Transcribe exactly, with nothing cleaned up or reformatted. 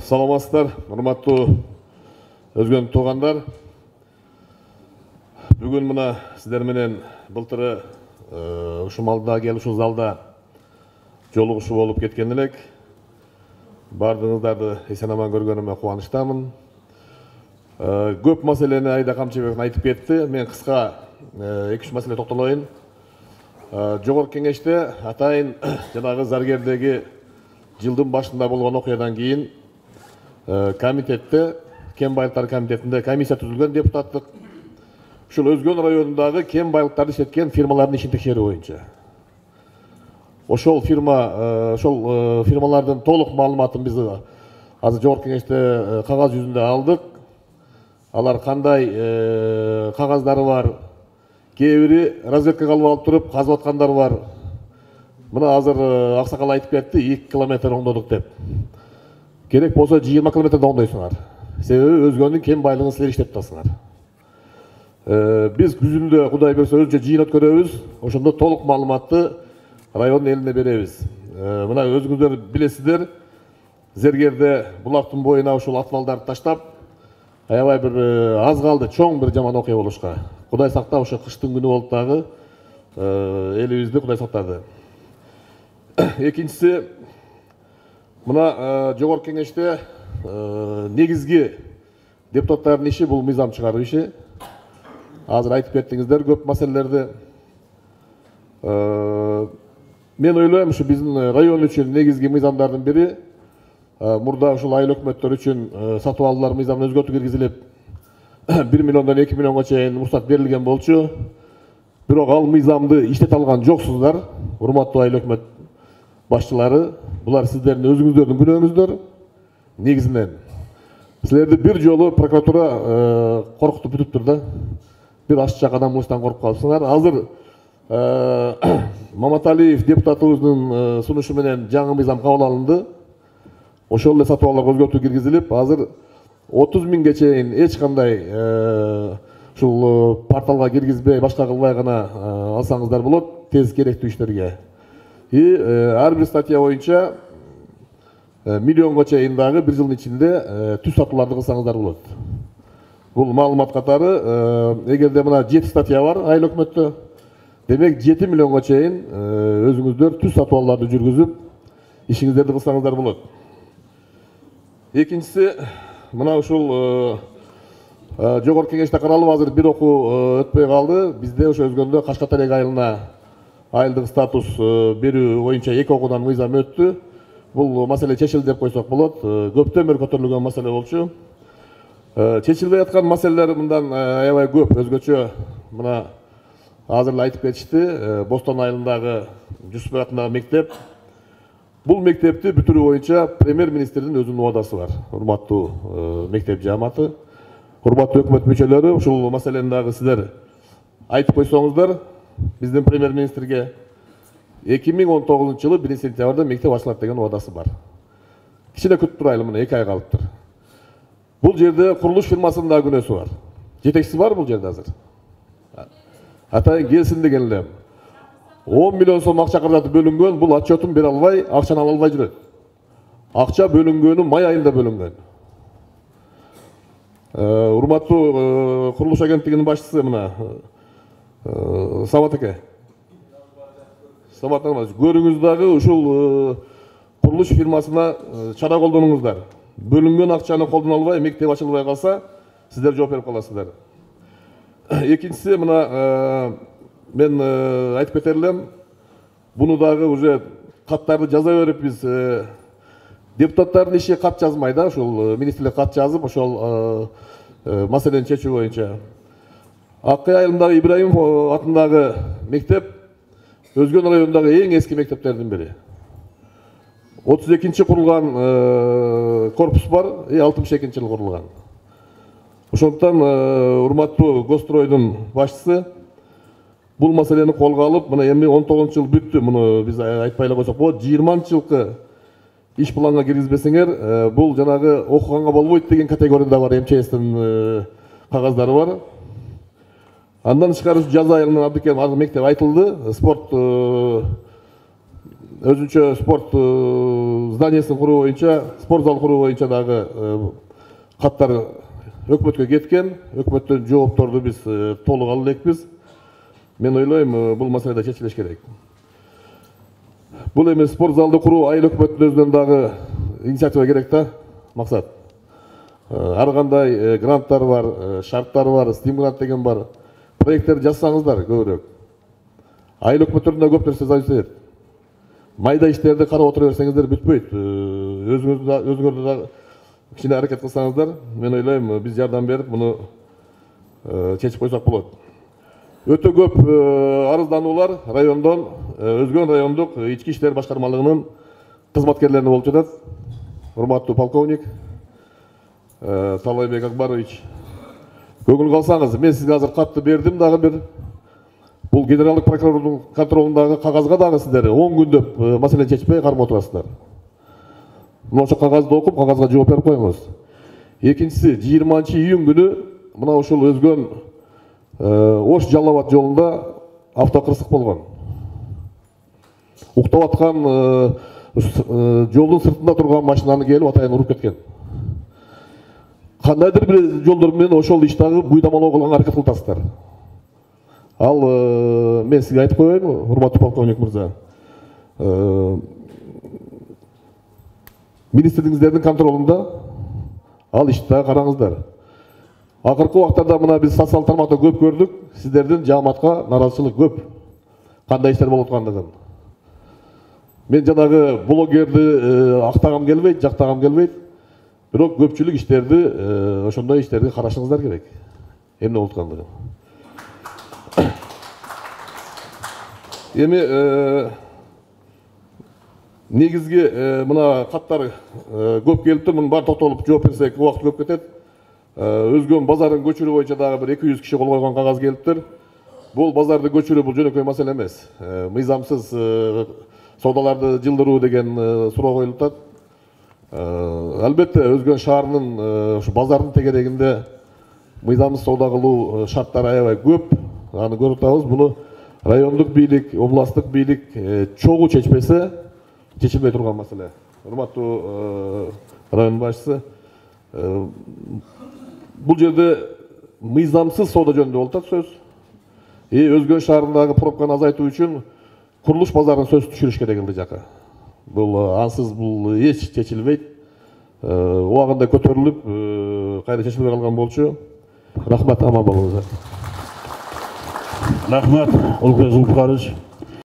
Саламатсыздар, урматтуу өзгөн туугандар. Бүгүн мына сиздер менен былтыры ушул малда келип ушул залда жолугушуу болуп кеткен элек. Бардыгыңыздарды эсен аман көргөнүмө кубанычтамын. Көп маселени Айда Камчыбек айтып кетти. Мен кыска эки үч маселе токтолоюн. Жогорку кеңеште атайын жанагы Заргердеги жылдын башында болгон окуядан кийин комитетте, кен байлыктары комитетинде комиссия түзүлгөн депутаттык. Ушул Өзгөн районундагы кен байлыктарды иштеткен фирмалардын ишин текшерүү боюнча. Ошол фирма, ошол фирмалардын толук маалыматын биз азыр жогорку кеңеште кагаз жүзүндө алдык. Алар кандай кагаздары бар, кээ бири разведкага алып алып туруп казып аткандар бар. Мына азыр аксакал айтып кетти, эки километр оңдодук деп. Керек болсо жыйырма километрде оңдойсуңар. Себеби Өзгөндүн кен байлыгын силер иштеп атасыңар. Биз күзүндө Кудай берсе өзүнчө жыйын өткөрөбүз. Ошондо толук маалыматты райондун элине беребиз. Мына өзүңүздөр билесиздер, Зергерде булактын боюна ушул атмалдарды таштап, аябай бир аз калды чоң бир жаман окуя болушка. Кудай сактап, ошо кыштын күнү болуп дагы элибизди Кудай сактады. Экинчиси, мына жогорку кеңеште негизги депутаттардын иши бул мыйзам чыгаруу иши. Азыр айтып кеттиңиздер көп маселелерди. Мен ойлойм, ушу биздин район үчүн негизги мыйзамдардын бири мурда ушул айыл өкмөттөр үчүн сатып алуулар мыйзамын өзгөртүү киргизилип бир миллиондон эки миллионго чейин уруксат берилген болчу. Бирок ал мыйзамды иштете алган жоксуздар, урматтуу айыл өкмөт башчылары. Булар сиздердин өзүңүздөрдүн күнөөңүздөр. Негизинен силерди бир жолу прокуратура коркутуп бүтүптүр да. Бир ашчак адамыбыздан коркуп калыпсыңар. Азыр Маматалиев депутатыбыздын сунушу менен жаңы мыйзам кабыл алынды. Ошол эле сатып алууларга өзгөртүү киргизилип, азыр отуз миңге чейин эч кандай ушул порталга киргизбей, башка кылбай гана алсаңыздар болот тез керектүү иштерге. И ар бир статья боюнча миллионго чейин дагы бир жылдын ичинде түз сатууларды кылсаңыздар болот. Бул маалымат катары, эгерде мына жети статья бар айыл өкмөттө, демек жети миллионго чейин өзүңүздөр түз сатып алууларды жүргүзүп ишиңиздерди кылсаңыздар болот. Экинчиси, мына ушул жогорку кеңеште каралып азыр бир окуу өтпөй калды. Бизде ошо Өзгөндө Кашкатарек айылына айылдык статус берүү боюнча эки окуудан мыйзам өттү. Бул маселе чечилди деп койсок болот. Көптөн бери көтөрүлгөн маселе болчу. Чечилбей аткан маселелер мындан аябай көп. Өзгөчө мына азыр эле айтып кетишти, Бостон айылындагы Жусупбек атындагы мектеп. Бул мектепти бүтүрүү боюнча премьер-министрдин өзүнүн убадасы бар. Урматтуу мектеп жааматы, урматтуу өкмөт мүчөлөрү, ушул маселени дагы сиздер айтып койсоңуздар, биздин премьер-министрге эки миң он тогузунчу жылы биринчи сентябрда мектеп ачылат деген убадасы бар. Кичине күтүп турайлы, мына эки ай калыптыр. Бул жерде курулуш фирмасынын да күнөөсү бар. Жетекчиси бар бул жерде азыр. Атайын келсин деген элем. он миллион сом акча каражаты бөлүнгөн, бул отчетун бере албай, акчаны ала албай жүрөт. Акча бөлүнгөнү май айында бөлүнгөн. Урматтуу курулуш агенттигинин башчысы мына Самат эке. Самат эке, көрүңүз дагы ушул курулуш фирмасына чара колдонуңуздар. Бөлүнгөн акчаны колдоно албай, мектеп ачылбай калса, сиздер жооп берип каласыздар. Экинчиси, мына мен айтып кетер элем, буну дагы уже каттарды жаза берип биз депутаттардын иши кат жазмай да, ушул министрлик кат жазып, ошол маселени чечүү боюнча. Аккай айылындагы Ибраимов атындагы мектеп Өзгөн районундагы эң эски мектептердин бири. отуз экинчи курулган корпус бар, алтымыш экинчи жылы курулган. Ошондуктан урматтуу Гостройдун башчысы бул маселени колго алып, мына эми он тогузунчу жыл бүттү, муну биз айтпай эле койсок болот. жыйырманчы жылкы иш планга киргизбесеңер, бул жанагы окуганга болбойт деген категорияда бар, эм че эстин кагаздары бар. Андан тышкары жаз айылынан Абдыкерим мектеп айтылды, спорт өзүнчө спорт зданиясын куруу боюнча, спорт зал куруу боюнча дагы каттар өкмөткө кеткен. Өкмөттөн жоопторду биз толук ала элекпиз. Мен ойлойм, бул маселе да чечилиш керек. Бул эми спорт залды куруу айыл өкмөттүн өзүнөн дагы инициатива керек да, максат. Ар кандай гранттар бар, шарттар бар, стимгрант деген бар. Проекттерди жазсаңыздар көбүрөөк. Айыл өкмөттөрдөн да көп нерсе зависит этет. Майда иштерди карап отура берсеңиздер бүтпөйт. Өзүңөрдү да кичине аракет кылсаңыздар, мен ойлойм, биз жардам берип муну чечип койсок болот. Өтө көп арыздануулар райондон, Өзгөн райондук ички иштер башкармалыгынын кызматкерлерине болуп жатат. Урматтуу полковник Талайбек Акбарович, көңүл калсаңыз, мен сизге азыр катты бердим дагы бир. Бул генералдык прокурордун контролундагы кагазга дагы сиздер он күндөп маселени чечпей кармап отурасыздар. Ошо кагазды окуп, кагазга жооп берип коюңуз. Экинчиси, жыйырманчы июнь күнү мына ушул Өзгөн Ош Жалал Абад жолунда автокырсык болгон. Уктап аткан жолдун сыртында турган машинаны келип атайын уруп кеткен. Кандайдыр бир жолдор менен ошол иштагы буйдамалоо кылганга аракет кыласыздар. Ал мен сизге айтып коеюн, урматтуу полковник мырза. Министрлигиңиздердин контролунда ал ишти караңыздар. Акыркы убактарда мына биз социалдык тармакта көп көрдүк, сиздердин жааматка наразычылык көп. Кандай иштер болуп аткандыгын. Мен жанагы блогерди актагам келбейт, жактагам келбейт. Бирок көпчүлүк иштерди, ошондой иштерди карашыңыздар керек. Эмне болуп аткандыгын. Эми негизги мына каттар көп келиптир, мунун баары токтолуп жооп берсек убакыт көп кетет. Өзгөн базарын көчүрүү боюнча дагы бир эки жүз киши кол койгон кагаз келиптир. Бул базарды көчүрүү бул жөнөкөй маселе эмес. Мыйзамсыз саудаларды жылдыруу деген суроо коюлуп атат. Албетте Өзгөн шаарынын ушу базардын тегерегинде мыйзамсыз сауда кылуу шарттары аябай көп. Аны көрүп атабыз. Буну райондук бийлик, областтык бийлик чогуу чечпесе чечилбей турган маселе. Урматтуу район башчысы, бул жерде мыйзамсыз сауда жөнүндө болуп атат сөз. И Өзгөн шаарындагы пробканы азайтуу үчүн курулуш базарын сөз түшүрүш керек элди жака. Бул ансыз бул эч чечилбейт. Убагында көтөрүлүп, кайра чечилбей калган болчу. Рахмат, аман болуңуздар. Рахмат, Улукбек Зулпукарович.